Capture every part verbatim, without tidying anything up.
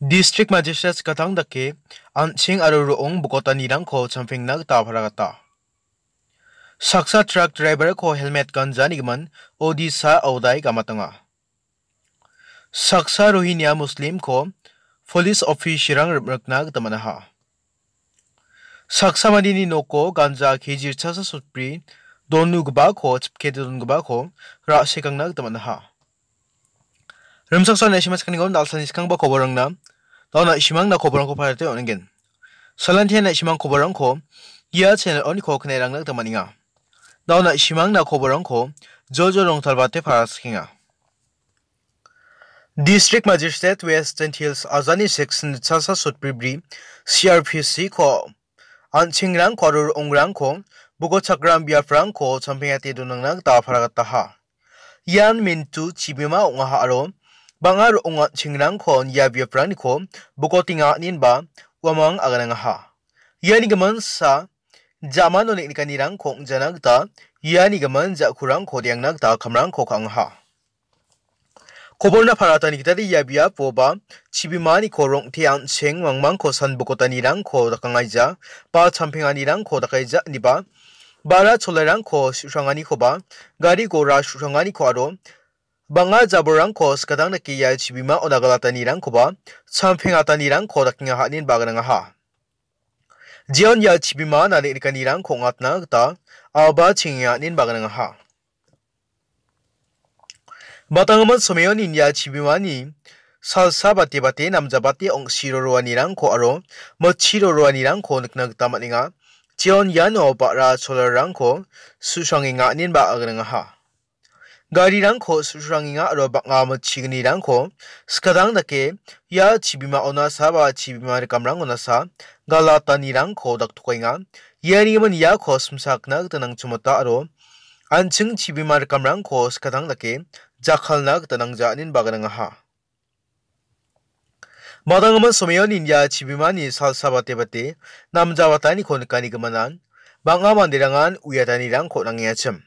Distrik Majistret skatang dake an·ching aro ro·ong bokotanirangko champengna gita aparagata. Saksa trak driver-ko helmet ganja nigimin Odisha aodai gamatenga. Saksa Rohingya Muslim-ko police officer-rang rim·rikna gita man·aha. Saksa mandeni noko ganja K G ritchasa sotbri donugipako chipke dongipako ra·sekangna gita man·aha. Rimchaksoan S M S kanigon dalsani skangba koborangna, dauna ishimangna koborangko parate on·engen. Salantiana ishimang koborangko ia channel oniko knairangna gita man·enga. Dauna ishimangna koborangko jojo rongtalbate paraskenga. District Magistrate Western Hills ajani section chasa sotbribri C R P C ko an·chingrangko aro ro·ongrangko bokochakram biaprangko champengate donangna gita aparagataha. Ian Mintu chibima ong·aha aro bang·a ro·ong an·chingrangko ia biapraniko bokotenga inen ba uamang aganangaha. Iani gimin sa jamano neng·nikanirangko ong·jana gita iani gimin ja·kurangko re·angna gita kamrangko ka·angaha. Koborna paratani gitade ia biapo ba chibimaniko rong·te an·cheng mangmangko san bokotanirangko dakangaija ba champenganirangko dakaija ine ba bara cholarangko su·sranganikoba gari gora su·sranganiko aro bang·a jabolrangko skatang dake ia chibimao nagalatanirangkoba champengatanirangko dakenga ine ba aganangaha. Jeon ia chibima nang·nikanirangko ong·atna gita aoba chengenga ine ba aganangaha. Batanggimin someoni ia chibimani salsa bate bate namjabate ong·siro roanirangko aro mitchiro roanirangko nikna gita man·enga. Jeon iano ba·ra cholarrangko su·srangenga ine ba aganangaha. Garirangko su·srangenga aro bang·a mitchignirangko skatang dake ia chibimao nasa ba chibima rikamrango nasa galatanirangko daktokenga. Iani gimin iako simsakna gita nangchimota aro an·ching chibima rikamrangko skatang dake jakkalna gita nangja ine ba aganangaha. Batanggimin someoni ia chibimani salsa bate bate namjabataniko nikani gimin bang·a manderangan uiatanirangko nangengachim.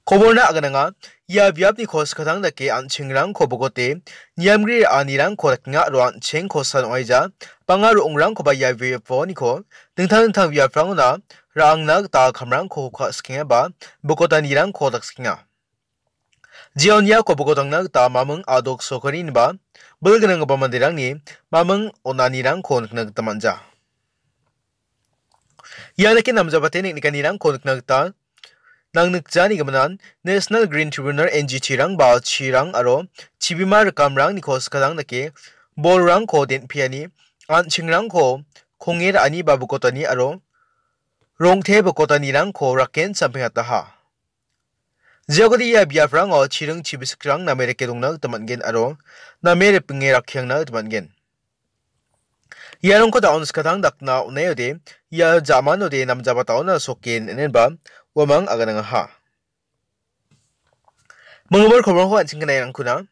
Koborna agananga ia biapniko skatang dake an·chingrangko bokote niamgri ra·anirangko dakenga aro an·chengko san ong·aija bang·a ro·ongrangkoba ia biaponiko dingtang dingtang biaprangona ra·angna gita kamrangko ka·sikenga ba bokotanirangko daksikenga. Jeon iako bokodangna gita maming adok sokari ineba bil gnanggipa manderangni maming on·anirangko nikna gita man·ja. Ia dake namjabate neng·nikanirangko nikna gita nangnikjani giminan National Green Tribunal N G T-rang ba chirang aro chibima rikamrangniko skatang dake bolrangko den·peani an·chingrangko konge ra·ani ba bokotani aro rong·te bokotanirangko raken champengataha. Jeokode ia biaprango chiring chibisikrang name rike dongna gita man·gen aro name ripinge rakkiangna gita man·gen. Iarangko da·on skatang dakna on·aode ia jamanode namjaba da·ona soke nenenba uamang aganangaha. Mangmor koborangko an·ching gnairangkuna.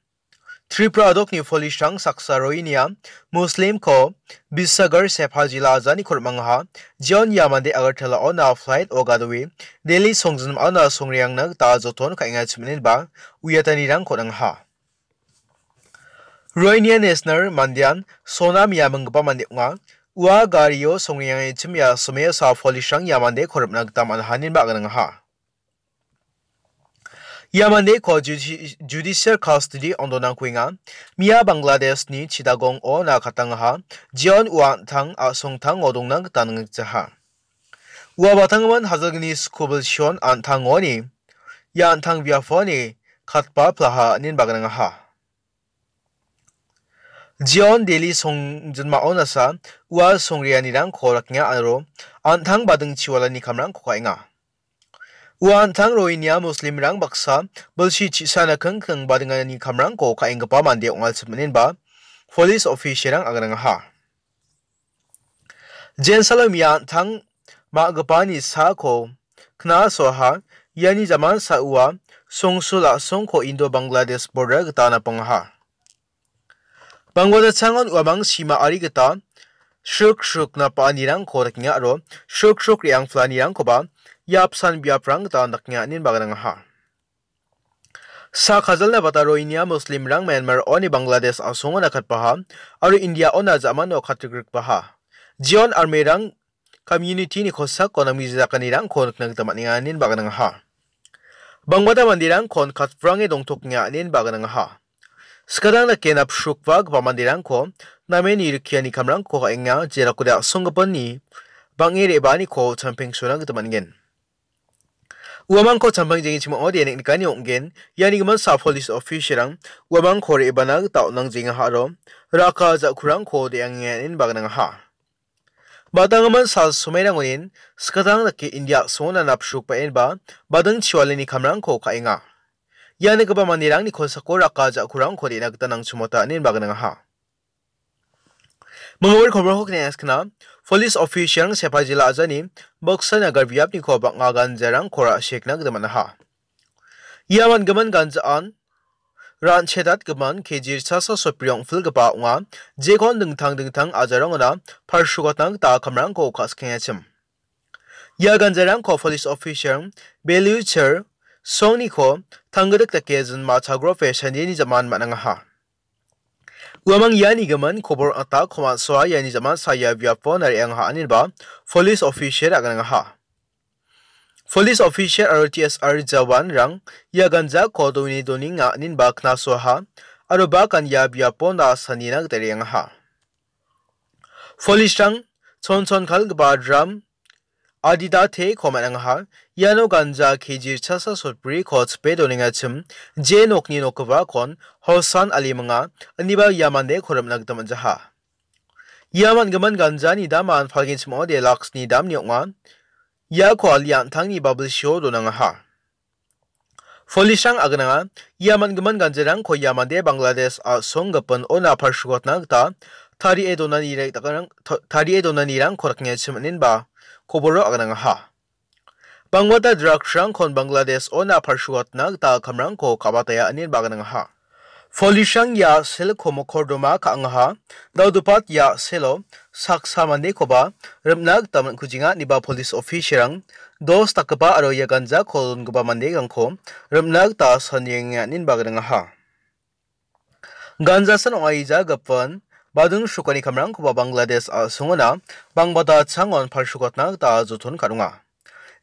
Tripura adokni police-rang saksa Rohingya Muslim-ko Bisagar Sepha jila ajani kormangaha. Jeon ia mande Agartala-ona flight-o gadoe Delhi songjinmana songreangna gita joton ka·enga chiminenba uiatanirangko nangaha. Rohingya National mandean Sonam ia minggipa mande ong·a. Ua gario songreangachim ia someo sa police-rang ia mande koripna gita man·aha inenba aganangaha. Ia mandeko judi-, judicial custody-on donangkuenga. Mia Bangladeshni Chittagong-o nakatangaha. Jeon ua an·tang a·songtango dongna gita nangjaha. Ua batanggimin hajalgni skubil Sion an·tangoni ia an·tang biaponi katba plaha inen bagnangaha. Jeon Delhi songjinmao nasa ua songreanirangko rakenga aro an·tang bading chiwalani kamrangko ka·enga. Ua an·tang Rohingya Muslimrang baksa bilsi chisana kingking badingani kamrangko ka·enggipa mande ong·a chiminenba police official-rang aganangaha. Jensalo mia an·tang ma·gipani sako knasoaha, iani jaman sa ua songsul a·songko Indo-Bangladesh border gita napangaha. Bangladeshangon uamang sima ari gita sruk sruk napa·anirangko dakenga aro sruk sruk re·angplanirangkoba ia apsan biaprang gita dakenga inen baganangaha. Sa kajalna bataro India Muslimrang Myanmar-oni Bangladesh a·songo nakatbaha aro India-ona ja·mano katrikrikbaha. Jeon armerang community-ni kosako namgijakanirangko nikna gita man·enga, inenba gnangaha. Bangbata manderangkon katprange dongtokenga, inenba gnangaha. Skadang dake napsrukbagipa manderangko namen nirikiani kamrangko ka·enga, jerakode a·songgipinni bang·e re·baaniko champeng sona gita man·gen. Uamangko champang jengchim ong·ode niknikani ong·gen, iani gimin sa police officer-rang uamangko re·bana gita on·angjengaha aro raka ja·kurangko de·angenga inenba gnangaha. Batanggimin sal somairangonin skadang dake India a·songona napsrukbaenba bading chiwalani kamrangko ka·enga. Ia nikgipa manderangni kosako raka ja·kurangko de·na gita nangchimota inenba gnangaha. Mingwir koborko kne·askna, police officer-rang Sepajila ajani baksa nagar biapniko bang·a ganjarangko ra·sekna gita man·aha. Ia man·gimin ganjaan ran·chedatgimin K G ritchasa sotbri ong·pilgipa ong·a, jekon dingtang dingtang ajarangona palsrukatna gita kamrangko ka·skengachim. Ia ganjarangko police officer Belu Chir songniko tanggidik dake jinma chagrope sandeni jaman man·angaha. Uamang iani gimin kobor ata komatsoa iani jaman saya biapo nariangaha ineba police officer aganangaha. Police officer aro T S R jawanrang ia ganjako dongni doninga ineba knasoaha aro bakan ia biapo na·a sanina gita re·angaha. Police-rang chonchon kalgipa dram adita teko man·angaha. Iano ganja K G ritchasa sotbriko chipe donengachim, je nokni nokgipakon Hosan aliminga, ineba ia mandeko rimna gita man·jaha. Ia man·gimin ganjani daman palgenchim ong·ode laksni damni ong·a. Iako ali an·tangni babilsio donangaha. Police-rang agananga, ia man·gimin ganjarangko ia mande Bangladesh a·songgipin ona palsrukatna gita tarie donani re-, dakarang-, ta-, tarie donanirangko rakengachim inenba koboro aganangaha. Bangbata drugs-rangkon Bangladesh ona palsrukatna gita kamrangko ka·bataya inenba aganangaha. Police-rang ia selko mokordoma ka·angaha, dal·gipa ia selo saksa mandekoba rimna gita man·kujenga ineba police officer-rang dos dakgipa aro ia ganjako dongipa manderangko rimna gita sanienga inenba gnangaha. Ganjasan ong·aija gipin bading srukani kamrangkoba Bangladesh a·songona bangbata changon palsrukatna gita joton ka·donga.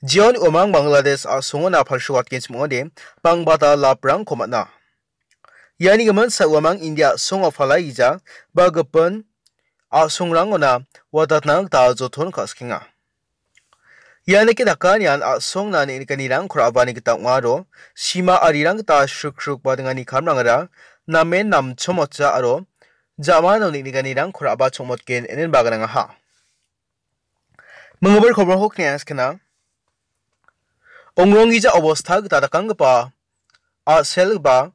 Jeon uamang Bangladesh a·songona palsrukatgenchim ong·ode bangbata laprangko man·a. Iani gimin sa uamang India a·songo palaija ba gipin a·songrangona watatna gita joton ka·sikenga. Ia nike dakanian a·songna neng·nikanirangko ra·bani gita ong·a aro sima arirang gita sriksruk badingani kamrangara namen namchomotja aro ja·mano neng·nikanirangko ra·ba chongmotgen inenba gnangaha. Minggipa koborko kne·a skana. Ongronggija obostha gita dakanggipa a·selgipa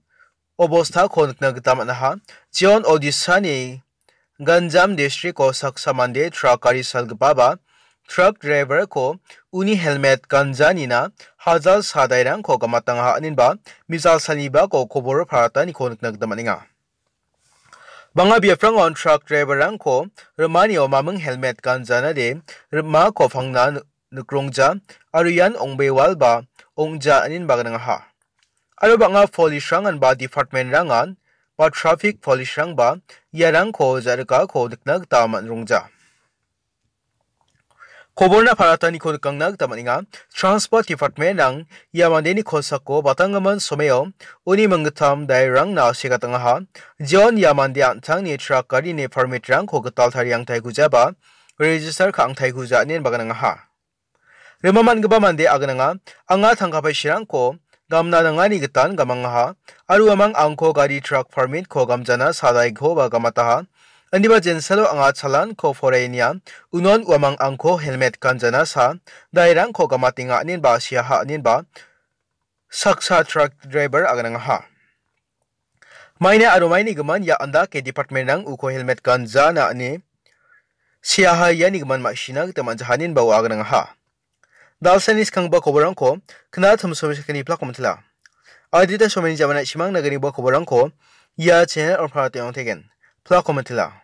obosthako nikna gita man·aha. Jeon Odisha-ni Ganjam district-o saksa mande truck gari salgipaba truck driver-ko uni helmet ganjanina hajal sadairangko gamatangaha inenba mijal salnibako kobor parataniko nikna gita man·enga. Bang·a biaprangon truck driver-rangko rimanio maming helmet ganjanade rimako pangna ni-, nikrongja aro ian ong·bewalba ong·ja inenba gnangaha. Aro bang·a police-rangan ba department-rangan ba traffic police-rangba iarangko ja·rikako nikna gita man·rongja. Koborna parataniko nikangna gita man·enga. Transport Department-rang ia mandeni kosako batanggimin someo uni minggittam dairangna segatangaha. Jeon ia mande an·tangni truck garini permit-rangko gital tariangtaigujaba register ka·angtaiguja ine baganangaha. Rima man·gipa mande agananga, anga tangka paisirangko gamna nangani gitan gamangaha, aro uamang angko gari truck permit-ko gamjana sadaikoba gamataha. Indiba jensalo anga chalan-ko porainia, unon uamang angko helmet ganjana sa, dairangko gamatenga inenba siaha inenba saksa truck driver aganangaha. Maina aro maini gimin ia andake department-rang uko helmet ganjana ine siaha iani gimin ma·sina gita man·jaha inenba ua aganangaha. Dalsani skanggipa koborrangko kna timsomi sakgni plako mitila. Adita someni jamana simang nagniba koborrangko ia channel on·pala teng·ong tegen. Plako mitila.